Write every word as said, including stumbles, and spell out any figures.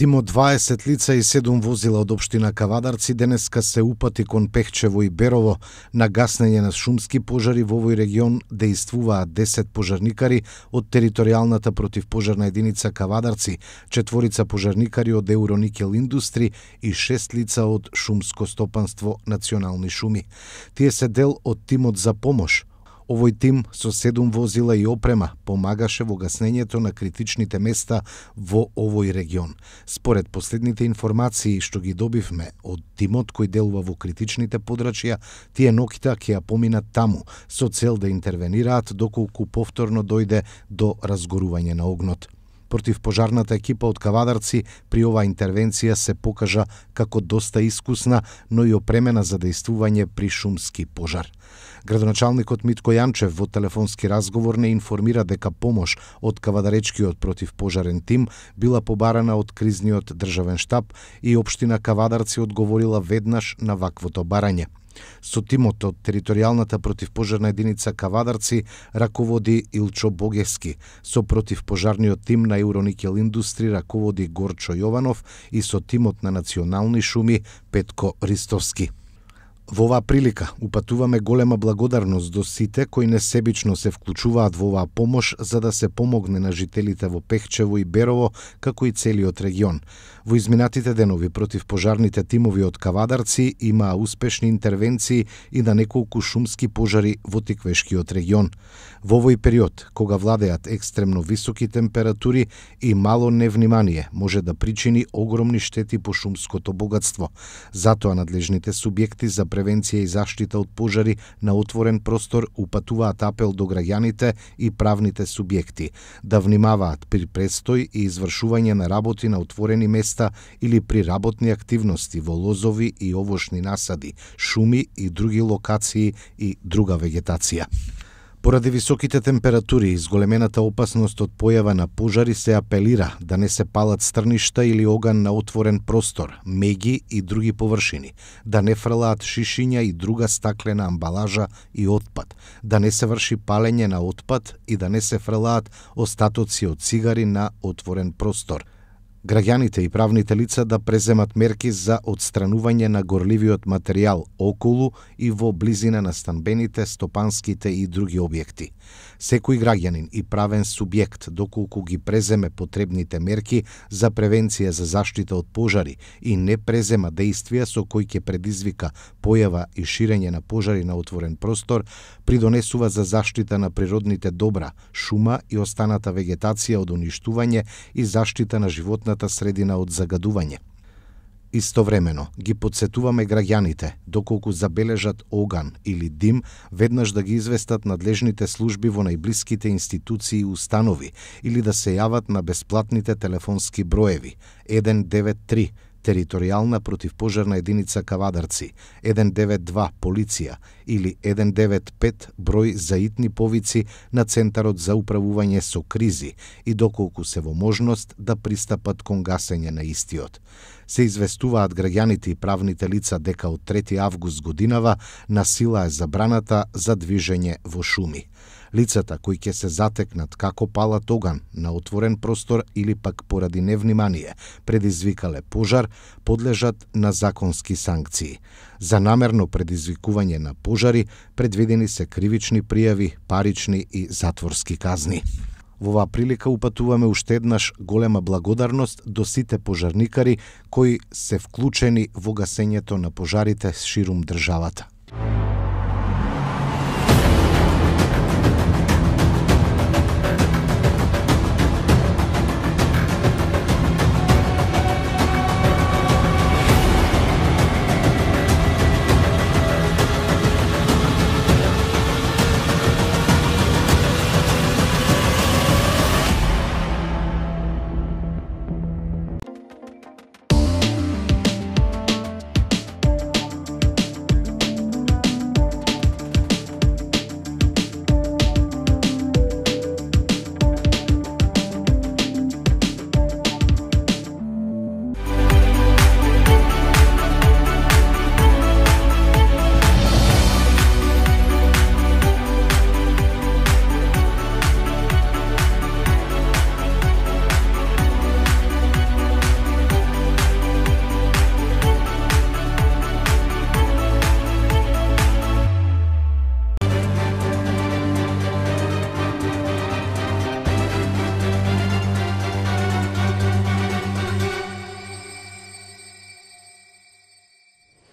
Тимот дваесет лица и седум возила од општина Кавадарци денеска се упати кон Пехчево и Берово на гаснење на шумски пожари во овој регион. Дејствуваат десет пожарникари од територијалната противпожарна единица Кавадарци, четворица пожарникари од Евроникел Индустри и шест лица од Шумско стопанство Национални шуми. Тие се дел од тимот за помош. Овој тим со седум возила и опрема помагаше во гаснењето на критичните места во овој регион. Според последните информации што ги добивме од тимот кој делува во критичните подрачја, тие ноќта ќе ја поминат таму со цел да интервенираат доколку повторно дојде до разгорување на огнот. Противпожарната екипа од Кавадарци при оваа интервенција се покажа како доста искусна, но и опремена за дејствување при шумски пожар. Градоначалникот Митко Јанчев во телефонски разговор не информира дека помош од Кавадаречкиот противпожарен тим била побарана од кризниот државен штаб и општина Кавадарци одговорила веднаш на ваквото барање. Со тимот од територијалната противпожарна единица Кавадарци раководи Илчо Богевски, со противпожарниот тим на Евроникел Индустри раководи Горчо Јованов и со тимот на Национални шуми Петко Ристовски. Во оваа прилика упатуваме голема благодарност до сите кои несебично се вклучуваат во оваа помош за да се помогне на жителите во Пехчево и Берово, како и целиот регион. Во изминатите денови противпожарните тимови од Кавадарци имаа успешни интервенции и на неколку шумски пожари во Тиквешкиот регион. Во овој период, кога владеат екстремно високи температури и мало невнимание, може да причини огромни штети по шумското богатство. Затоа надлежните субјекти за превенција и заштита од пожари на отворен простор упатуваат апел до граѓаните и правните субјекти да внимаваат при престој и извршување на работи на отворени места или при работни активности во лозови и овошни насади, шуми и други локации и друга вегетација. Поради високите температури и зголемената опасност од појава на пожари се апелира да не се палат стрништа или оган на отворен простор, меѓи и други површини, да не фрлаат шишиња и друга стаклена амбалажа и отпад, да не се врши палење на отпад и да не се фрлаат остатоци од цигари на отворен простор. Граѓаните и правните лица да преземат мерки за отстранување на горливиот материјал околу и во близина на станбените, стопанските и други објекти. Секој граѓанин и правен субјект, доколку ги преземе потребните мерки за превенција за заштита од пожари и не презема дејствија со кои ќе предизвика појава и ширење на пожари на отворен простор, придонесува за заштита на природните добра, шума и останата вегетација од уништување и заштита на животната средина од загадување. Истовремено ги потсетуваме граѓаните, доколку забележат оган или дим, веднаш да ги известат надлежните служби во најблиските институции и установи или да се јават на бесплатните телефонски броеви еден девет три територијална противпожарна единица Кавадарци, еден девет два полиција или еден девет пет број за итни повици на Центарот за управување со кризи и доколку се во можност да пристапат кон гасење на истиот. Се известуваат граѓаните и правните лица дека од трети август годинава на сила е забраната за движење во шуми. Лицата кои ќе се затекнат како палат оган на отворен простор или пак поради невнимание предизвикале пожар, подлежат на законски санкции. За намерно предизвикување на пожари предвидени се кривични пријави, парични и затворски казни. Во оваа прилика упатуваме уште еднаш голема благодарност до сите пожарникари кои се вклучени во гасењето на пожарите ширум државата.